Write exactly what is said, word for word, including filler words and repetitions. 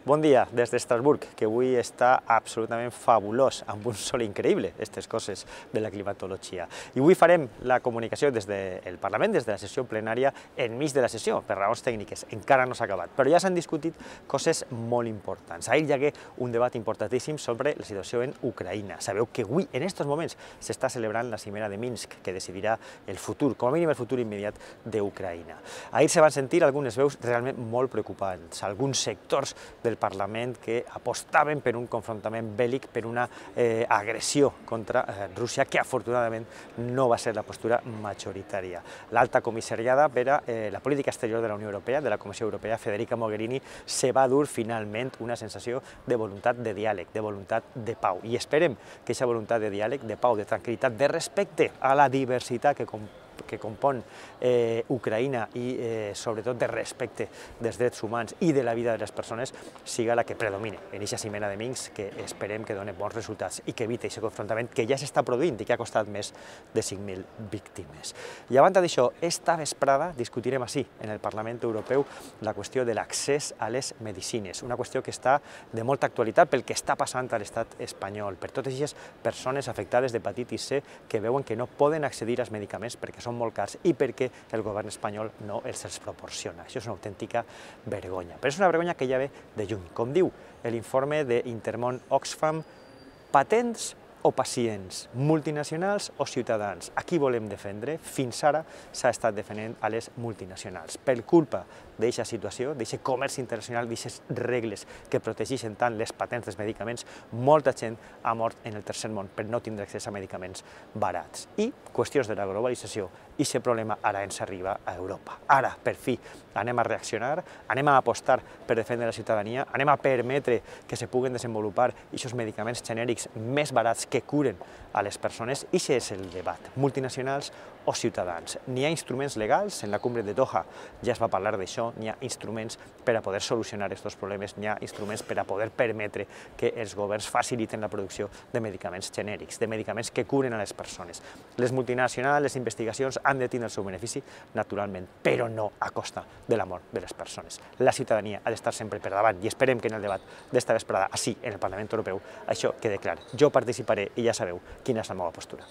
Bon dia des d'Estrasburg, que avui està absolutament fabulós, amb un sol increïble, aquestes coses de la climatologia. I avui farem la comunicació des del Parlament, des de la sessió plenària, enmig de la sessió, per raons tècniques. Encara no s'ha acabat, però ja s'han discutit coses molt importants. Ahir hi hagué un debat importantíssim sobre la situació en Ucraïna. Sabeu que avui, en aquests moments, s'està celebrant la cimera de Minsk, que decidirà el futur, com a mínim el futur immediat d'Ucraïna. Ahir se van sentir algunes veus realment molt preocupants, alguns sectors del Parlament que apostaven per un confrontament bèl·lic, per una eh, agressió contra eh, Rússia, que afortunadament no va ser la postura majoritària. L'alta comissariada per a eh, la política exterior de la Unió Europea, de la Comissió Europea, Federica Mogherini, se va dur finalment una sensació de voluntat de diàleg, de voluntat de pau. I esperem que aquesta voluntat de diàleg, de pau, de tranquil·litat, de respecte a la diversitat que comporta que compon eh, Ucraïna i eh, sobretot de respecte dels drets humans i de la vida de les persones siga la que predomine en aquesta cimera de Minsk, que esperem que doni bons resultats i que evite aquest confrontament que ja s'està produint i que ha costat més de cinc mil víctimes. I a banda d'això, esta vesprada discutirem així, en el Parlament Europeu, la qüestió de l'accés a les medicines, una qüestió que està de molta actualitat pel que està passant a l'estat espanyol, per totes aquestes persones afectades d'hepatitis C que veuen que no poden accedir als medicaments perquè són molt cars i perquè el govern espanyol no els els proporciona. Això és una autèntica vergonya. Però és una vergonya que ja ve de lluny. Com diu l'informe d'Intermón Oxfam, patents o pacients, multinacionals o ciutadans. A qui volem defendre? Fins ara s'ha estat defendent a les multinacionals. Per culpa d'aquesta situació, d'aquest comerç internacional, d'aquestes regles que protegeixen tant les patents dels medicaments, molta gent ha mort en el tercer món per no tindre accés a medicaments barats. I qüestions de la globalització, i aquest problema ara ens arriba a Europa. Ara, per fi, anem a reaccionar, anem a apostar per defendre la ciutadania, anem a permetre que se puguen desenvolupar aquests medicaments genèrics més barats que curen a les persones, i aquest és el debat, multinacionals o ciutadans. N'hi ha instruments legals, en la cumbre de Doha ja es va parlar d'això, n'hi ha instruments per a poder solucionar aquests problemes, n'hi ha instruments per a poder permetre que els governs faciliten la producció de medicaments genèrics, de medicaments que curen a les persones. Les multinacionals, les investigacions han de tindre el seu benefici, naturalment, però no a costa de la mort de les persones. La ciutadania ha d'estar sempre per davant i esperem que en el debat d'esta vesprada, així, en el Parlament Europeu, això quede clar. Jo participaré i ja sabeu quina és la meva postura.